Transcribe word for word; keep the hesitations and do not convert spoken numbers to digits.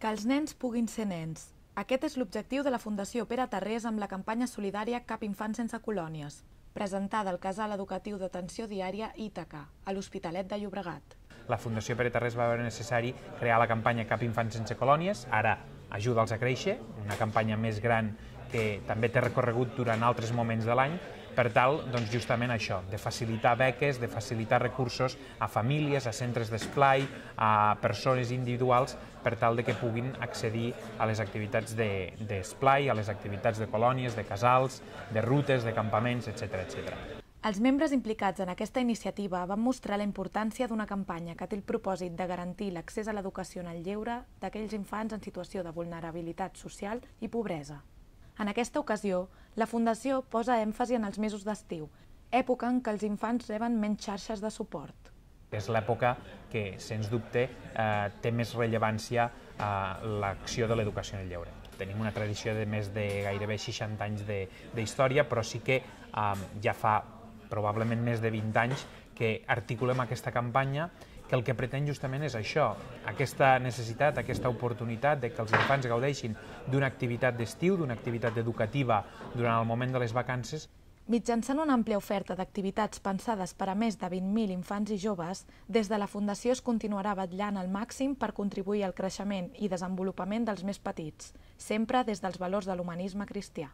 Que els nens puguin ser nens. Aquest és l'objectiu de la Fundació Pere Tarrés amb la campanya solidària Cap infant sense colònies, presentada al Casal Educatiu d'Atenció Diària Ítaca, a l'Hospitalet de Llobregat. La Fundació Pere Tarrés va veure necessari crear la campanya Cap infant sense colònies, ara Ajuda'ls a créixer, una campanya més gran que també té recorregut durant altres moments de l'any, per tal, doncs, justament això, de facilitar beques, de facilitar recursos a famílies, a centres d'esplai, a persones individuals, per tal de que puguin accedir a les activitats d'esplai, a les activitats de colònies, de casals, de rutes, de campaments, etcètera, etcètera. Els membres implicats en aquesta iniciativa van mostrar la importància d'una campanya que té el propòsit de garantir l'accés a l'educació en el lleure d'aquells infants en situació de vulnerabilitat social i pobresa. En aquesta ocasió, la Fundació posa èmfasi en els mesos d'estiu, època en què els infants reben menys xarxes de suport. És l'època que, sens dubte, eh, té més rellevància a l'acció de l'educació en el lleure. Tenim una tradició de més de gairebé seixanta anys d'història, però sí que eh, ja fa probablement més de vint anys que articulem aquesta campanya, que el que pretén justament és això, aquesta necessitat, aquesta oportunitat de que els infants gaudeixin d'una activitat d'estiu, d'una activitat educativa durant el moment de les vacances. Mitjançant una àmplia oferta d'activitats pensades per a més de vint mil infants i joves, des de la Fundació es continuarà vetllant al màxim per contribuir al creixement i desenvolupament dels més petits, sempre des dels valors de l'humanisme cristià.